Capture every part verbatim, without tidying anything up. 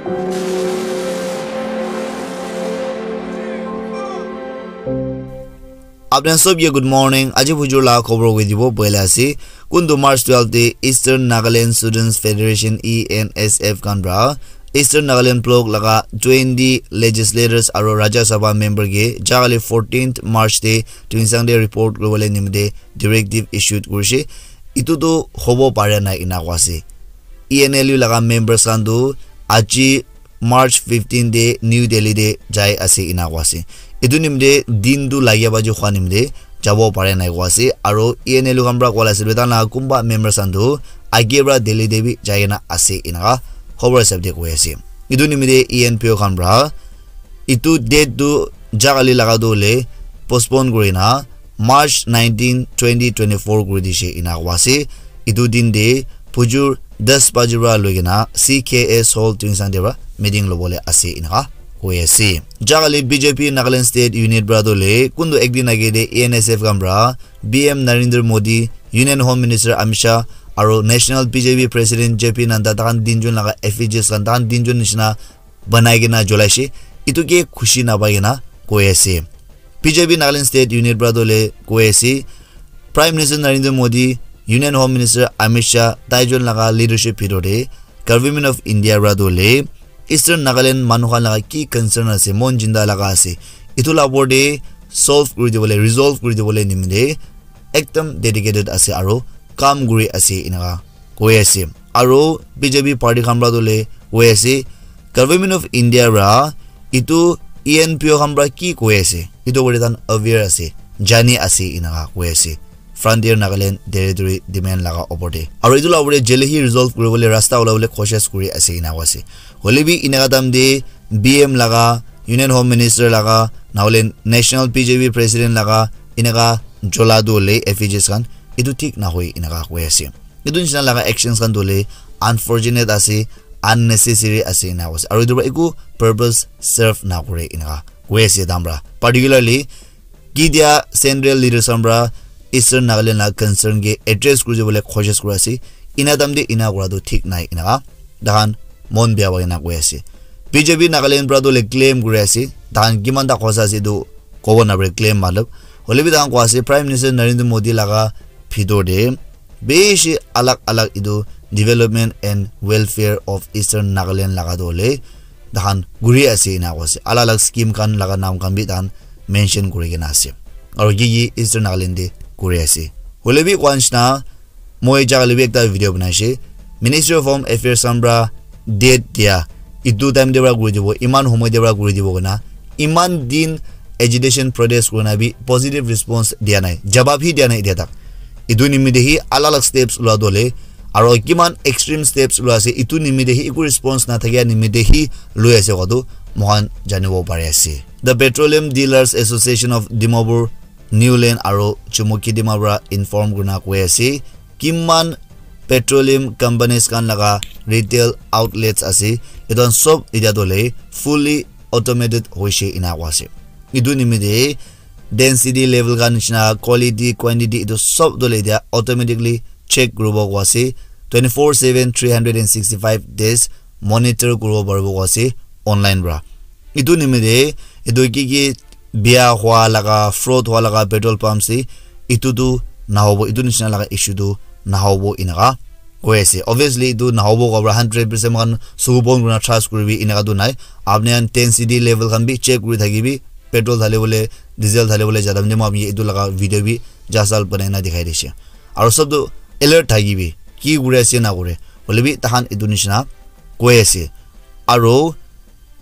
Apni khan sob ke good morning. Aji bujur la khobor koi dibo boile ase. Kuntu March twelve te Eastern Nagaland Students Federation, E N S F, khan pra Eastern Nagaland block laga twenty legislators aro Rajya Sabha member ke jagali fourteenth March te Tuensang te report kuribole nimite directive issued kurishe. Itu tu hobo pare na ina kwa ase. E N L U laga members khan tu aji March fifteen te New Delhi te jai ase ina kwa ase. Itu nimite din tu lagia baji khwa nimite jabo pare nai kwa ase. Aro E N L U khan pra kwa la ase, betan laga kumba members khan tu age pra Delhi te bi jai kena ase ina ka khobor hisab te koi ase. Itu nimite E N P O khan pra itu date tu jagali laga tu hoile postpone kuri na March nineteen, twenty twenty-four kuri dishe ina kwa ase. Itu din te bujur das baji pra loi kena C K S Hall Tuensang te pra meeting lobole ase ina ka koi ase. Jagali B J P Nagaland State Unit pra tu hoile kuntu ek din age te E N S F khan pra P M Narendra Modi, Union Home Minister Amit Shah, aro National B J P President J P Nadda, tahan tinjon laga effigies khan tahan tinjon nishina banai kena jolai she, itu ke khushi napai kena koi ase. B J P Nagaland State Unit pra tu hoile koi ase, Prime Minister Narendra Modi, Union Home Minister Amit Shah, taijon laga leadership bhitor te Government of India pra tu hoile Eastern Nagaland manu khan laga ki concern ase, mon jinda laga ase, itu la opor te solve kuri dibole, resolve kuri dibole nimite ekdam dedicated ase aro kam kuri ase ina ka koi ase. Aro B J P party khan pra tu hoile koi ase, Government of India pra itu E N P O khan pra ki koi ase, itu opor te tahan aware ase, jani ase ina ka koi ase. Frontier Nagaland Territory demand laga opor te. Aro itu la opor te jale hi resolve kuribole rasta ulabole koshish kuri ase ina koi ase. Hoile bi ina ka time te B M laga, Union Home Minister laga, nahole National B J P President laga, ina ka jola tu hoile effigies khan, itu thik nahoi ina ka koi ase. Itu nishina laga actions khan tu hoile unfortunate ase, unnecessary ase ina koi ase. Aro itu pra eku purpose serve nakore ina ka koi ase tahan pra. Particularly, ki dia central leaders khan pra Eastern Nagaland la concern ke address kuri bole koshish kuri ase. Ina time te ina kura tu thik nai ina ka tahan mon bya pai kena koi ase. B J P Nagaland pra tu hoile claim kuri ase. Tahan kiman ta khosa ase tu kobo napare claim matlab. Hoile bi tahan koi ase Prime Minister Narendra Modi laga bhitor te bishi alag alag itu development and welfare of Eastern Nagaland laga tu hoile tahan kuri ase ina koi ase. Alag alag scheme khan laga naam khan bi tahan mention kuri kena ase. Aro ki ki Eastern Nagaland te kuri ase. Hoile bi koi nishina moi jaga le bi ekta video banai she. Ministry of Home Affairs khan pra date dia, itu time te pra kuri dibo, iman homoy te pra kuri dibo kena, iman din agitation protest kurina bi positive response dia nai, jawab hi dia nai etia tak. Itu nimite hi alag alag steps lua dole, aro kiman extreme steps lua ase, itu nimite hi eku response na thakia nimite hi lui ase koa tu moikhan janibo pari ase. The Petroleum Dealers Association of Dimapur, Niuland aro Chumukedima pra inform kurina koi ase, kiman petroleum companies khan laga retail outlets ase, etu khan sob etia tu hoile fully automated hoise ena koi ase. Etu nimite density level khan nishina, quality, quantity, etu sob tu hoile etia automatically check kuribo koi ase. Twenty four seven, three hundred and sixty five days monitor kuribo paribo koi ase online pra. Etu nimite etu ki ki bia hua laga, fraud hua laga petrol pumps te etu tu nahobo, etu nishina laga issue tu nahobo eneka koi ase. Obviously etu nahobo koa pra hundred percent moikhan suku bon kurina trust kuribi eneka tu nai. Apni khan ten C D level khan bi check kuri thakibi, petrol dhali bole, diesel dhali bole jada mane moi apni etu laga video bi jasal banai na dikhai dise. Aro sob tu alert thakibi, ki kuri ase na kure, hoile bi tahan etu nishina koi ase. Aro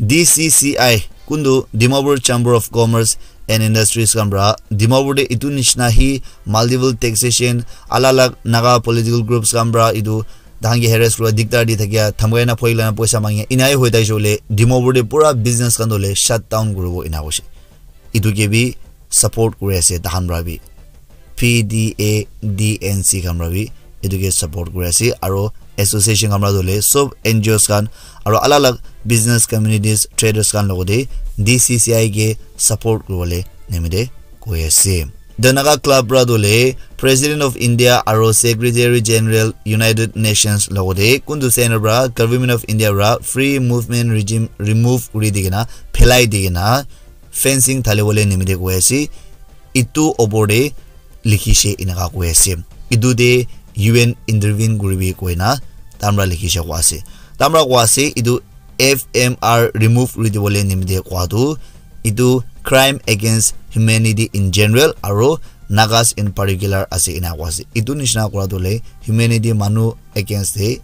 D C C I, kuntu Dimapur Chamber of Commerce and Industries khan pra, Dimapur te etu nishina hi multiple taxation, alag alag Naga political groups khan pra etu tahan ke harass kura, diktar di thakia, dhamkai na phoi lana poisa mangia, enai hoi thakise hoile Dimapur te pura business khan tu hoile shut down kuribo ena koise. Etu ke bi support kuri ase tahan pra bi. P D A D N C khan pra bi etu ke support kuri ase, aro association khan pra tu hoile sob N G Os khan aro alag alag business communities, traders khan logote D C C I ke support kuribole nimite koi ase. The Naga Club pra tu le President of India aro Secretary General United Nations logote kuntu center pra Government of India pra free movement regime remove kuri di kena, phelai di kena, fencing thali bole nimite koi ase. Itu opor te likhi she inaka koi ase. Itu te U N intervene kuribi koina tamra likhi she koi ase. Tamra koi ase itu F M R remove kuri dibole nimite koi tu itu crime against humanity in general aro Nagas in particular ase ina koi ase. Itu nishina kura tu le humanity manu against te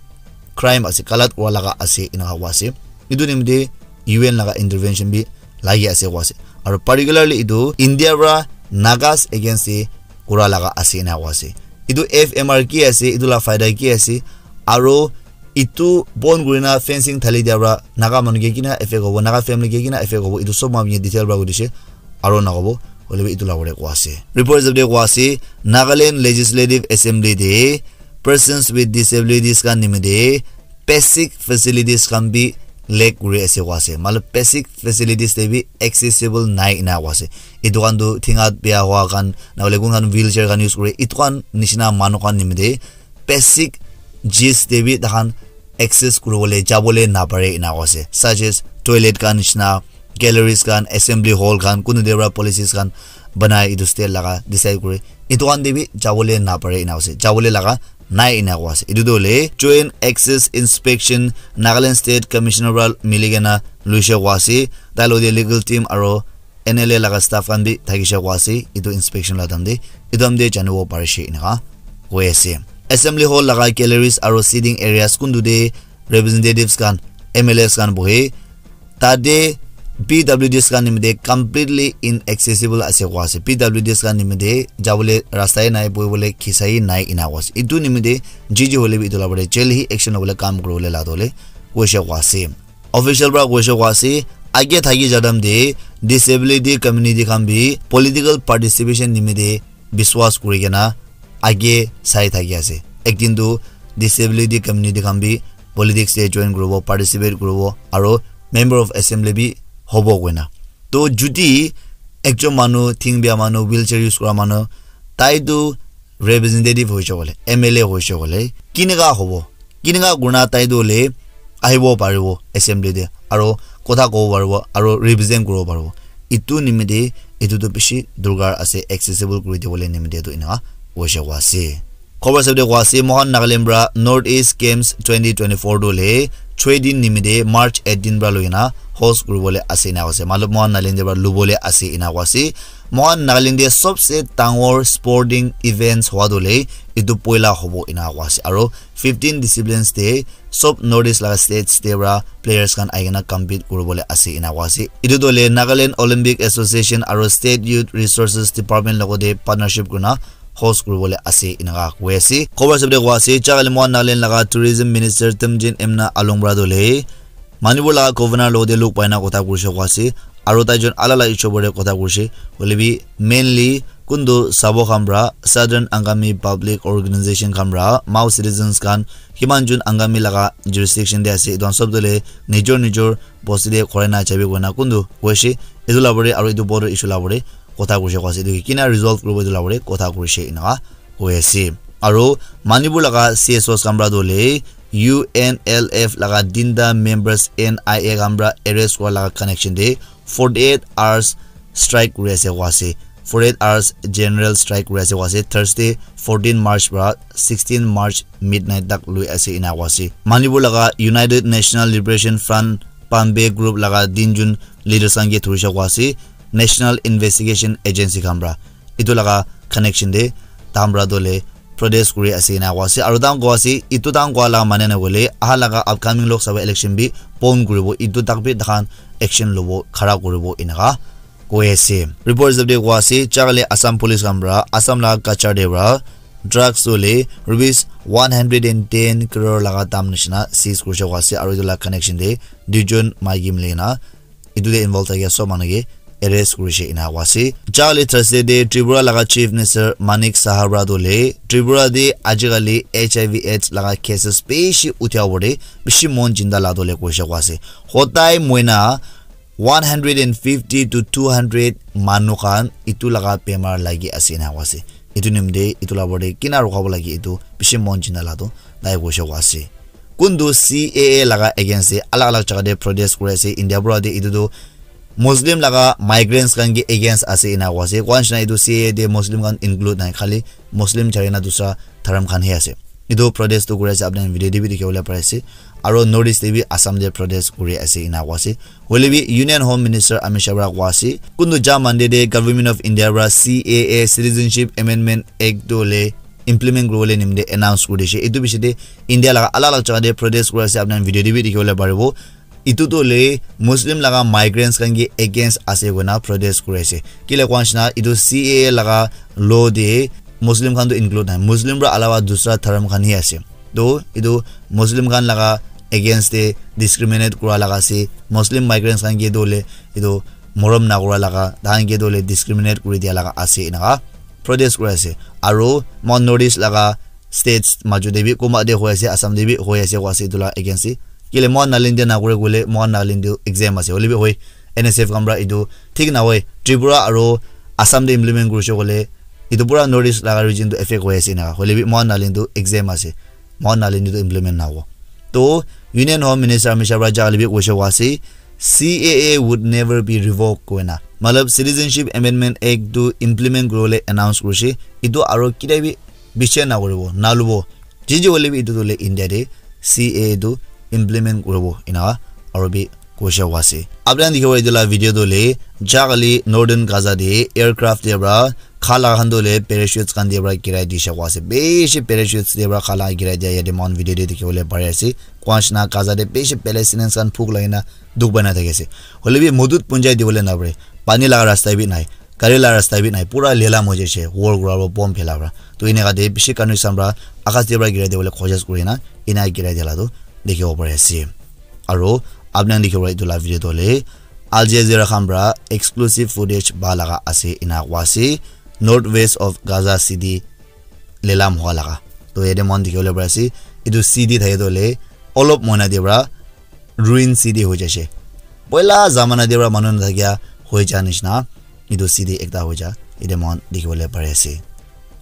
crime ase, galat kura laga ase ina koi ase. Itu nimite U N laga intervention bi lagi ase koi ase. Aro particularly itu India pra Nagas against te kura laga ase ina koi ase. Itu F M R ki ase, itu la faida ki ase, aro itu bon kurina fencing thali dia pra Naga manu ke kina effect hobo, Naga family ke kina effect hobo, itu sob manu detail pra kudise, aro nakobo, hoilebi itu la kore koi ase. Report hisab te koi ase, Nagaland Legislative Assembly te persons with disabilities khan nimite basic facilities khan bi lack kuri ase koi ase. Matlab basic facilities te bi accessible nai ina koi ase. Itu khan tu thingat bia hua khan, nahole kun khan wheelchair khan use kure, itu khan nishina manu khan nimite basic chis te bi takhan access kuribole jabole napare ina koi ase. Such as toilet khan nishina, galleries khan, assembly hall khan, kunu de pra policies khan banai itu state laga decide kure. Itu khan te bi jabole napare ina koi ase. Jabole laga nai ina koi ase. Itu tu hoile Joint Access Inspection Nagaland State Commissioner pra mili kena luishe koi ase. Tai lo de legal team aro N L A laga staff khan bi thakishe koi ase. Itu inspection la time te, itu time te janibo parishe inaka koi ase. Assembly hall laga galleries aro sitting areas kuntu te representatives khan, M L As khan bohe. Tate P W Ds khan nimite completely inaccessible ase koi ase. P W Ds khan nimite jabole rasta he nai, bohibole khisa he nai ina koi ase. Itu nimite G G hoile bi itu la pore jail hi action lobole kam kuribole la dole koishe koi ase. Official pra koishe koi ase, age thaki jadam te disability community khan bi political participation nimite biswas kuri kena age sai thaki ase. Ekdin tu disability community khan bi politics te join kuribo, participate kuribo, aro member of assembly bi hobo koina. To judi ekjon manu, thing bia manu, wheelchair use kura manu, tai tu representative hoishe kole, M L A hoishe kole, kineka hobo? Kineka kurina tai tu hoile ahibo paribo assembly te, aro kotha kobo paribo, aro represent kuribo paribo. Itu nimite itu tu bishi durkar ase, accessible kuri dibole nimite tu inaka koishe koi ase. Khobor hisab te koi ase, moikhan Nagaland pra North East Games twenty twenty-four tu hoile choi din nimite March eighteen pra loikena host kuribole ase ina koi ase. Matlab moikhan Nagaland te pra lubole ase ina koi ase. Moikhan Nagaland te sobse dangor sporting events hwa tu hoile itu poila hobo ina koi ase. Aro fifteen disciplines te sob North East laga states te pra players khan ahi kena compete kuribole ase ina koi ase. Itu tu hoile Nagaland Olympic Association aro State Youth Resources Department logote partnership kurina host kuribole ase inaka koi ase. Khobor hisab te koi ase, jagale moikhan Nagaland laga Tourism Minister Temjen Imna Along pra tu hoile Manipur laga governor logote log paina kotha kurishe koi ase, aro tai jon alak alak issue opor te kotha kurishe, hoile bi mainly kuntu sabo khan pra Southern Angami Public Organization khan pra Mao citizens khan kiman jon Angami laga jurisdiction te ase, etu khan sob tu hoile nijor nijor bosti te khorai na jabi koina kuntu koishe, etu la opor te aro etu border issue la opor te kotha kurishe koi ase, etu kina resolve kuribo etu la opor te kotha kurishe inaka koi ase. Aro Manipur laga C S Os khan pra tu hoile U N L F laga tinta members N I A khan pra arrest kura laga connection te forty-eight hours strike kuri ase koi ase. Forty-eight hours general strike kuri ase koi ase. Thursday fourteen March pra sixteen March midnight tak lui ase ina koi ase. Manipur laga United National Liberation Front Pambay group laga tin jon leaders khan ke dhurishe koi ase National Investigation Agency khan pra. Etu laga connection te tahan pra tu hoile protest kuri ase ina koi ase, aro tahan koi ase etu tahan koi laga mane na hoile aha laga upcoming Lok Sabha election bi pon kuribo, etu tak bi tahan action lobo, khara kuribo inaka koi ase. Report hisab te koi ase, jagale Assam Police khan pra Assam laga Cachar te pra drugs tu hoile rupees one hundred and ten crore laga dam nishina seize kurishe koi ase, aro etu laga connection te duijon maiki mili kena etu te involve thakia sob manu ke arrest kurishe ina koi ase. Jagale Thursday te Tripura laga Chief Minister Manik Saha pra tu hoile Tripura te ajikali H I V AIDS laga cases bishi uthia opor te bishi mon chinta la tu hoile koishe koi ase. Hodai moina one hundred and fifty to two hundred manu khan itu laga bemar lagi ase ena koa ase. Itu nimite itu la opor te kina rukha bo lagi itu bishi mon chinta la toh tai koishe koa ase. Kuntu C A A laga against te alag alag jaga te protest kuri ase. India pura te itu tu Muslim laga migrants khan ke against ase ena koa ase. Koa nishina itu C A A te Muslim khan include nai, khali Muslim chari na dusra dharam khan he ase. Itu protest tu kuri ase, apni khan video te bi dikhi bole pari ase. Aro North East te bi Assam te protest kuri ase ena koa ase. Hoile bi Union Home Minister Amit Shah pura koa ase, kuntu ja Monday te Government of India pura C A A Citizenship Amendment Act tu le implement kuri bole nimite announce kuri dishe. Itu bishi te India laga alag alag jaga te protest kuri ase, apni khan video te bi dikhi bole paribo. Itu tu le Muslim laga migrants khan ke against ase koina protest kuri ase. Kile koa nishina itu C A A laga law te Muslim khan tu include nai. Muslim pura alawa dusra dharam khan he ase. To itu Muslim khan laga against te discriminate kura laga ase. Muslim migrants khan ke tu le itu morom na kura laga, tahan ke tu le discriminate kuri dia laga ase enaka protest kuri ase. Aro mon North East laga states maju te bi kunba te hoi ase, Assam te bi hoi ase koa ase itu la against te. Kile mon Nagaland te na kure koile mon Nagaland te exam ase. Hoile bi hoi N S F khan pura itu thik na hoi. Tripura aro Assam te implement kurishe koile itu pura North East laga region tu affect hoi ase enaka. Hoile bi mon Nagaland te exam ase. Mon Nagaland te implement na hobo. To Union Home Minister Amit Shah pura ja hoile bi koishe koa ase, C A A would never be revoked koina. Matlab Citizenship Amendment Act tu implement kuri bole announce kurishe. Itu aro kitia bi bichar na kuribo, na lubo. Ji ji hoile bi itu tu le India te C A A tu implement kuribo ena aro bi koishe koa ase. Apni khan dikhibo itu la video tu le ja kali Northern Gaza te aircraft te pura kha laga khan tu le parachutes khan te pura girai dishe koa ase. Bishi parachutes te pura kha laga girai dia yate mon video te dikhi bole pari ase. Koa nishina Gaza te bishi Palestinians khan bhuk lagi na dukh pai na thaki ase. Hoile bi madad punchai di bole na pare. Pani laga rasta bi nai. Gari la rasta bi nai, pura lelam hoi jaise, war kura pora, bomb phela pora. To eneka te bishi countryside pora, akas te pora girai diwole khojaj kuri na, ena girai dia la to dikhibo pari ase. Aro apni khan dikhibo etu la video to hoile Al Jazeera khan pora exclusive footage pa laga ase ena koa ase, northwest of Gaza City lelam hua laga. To yate moikhan dikhiwole pari ase, etu city thake toh hoile olop moina te pora ruin city hoi jaise. Poila zamana te pora manu nathakia hoi ja nishina etu city ekta hoi ja yate moikhan dikhiwole pari ase.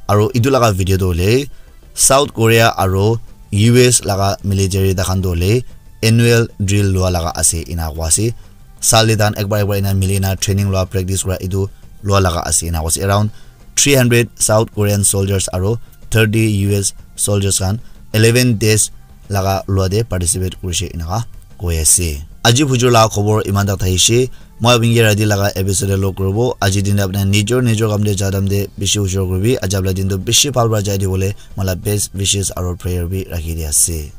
Aro etu laga video toh hoile South Korea aro U S laga military takhan toh hoile annual drill lua laga ase ena koa ase. Sal te takhan ekbar ekbar ena milina training lua practice kura etu lua laga ase ena koa ase. Around three hundred South Korean soldiers aro thirty U S soldiers khan eleven days laga lua te participate kurishe eneka koi ase. Aji bujur laga khobor iman tak thakishe. Moi apni ke rati laga episode te log kuribo. Aji din te apni nijor nijor kam te ja time te bishi ujor kuribi. Aji apni din toh bishi bhal para jai diwole moi la best wishes aro prayer bi rakhi di ase.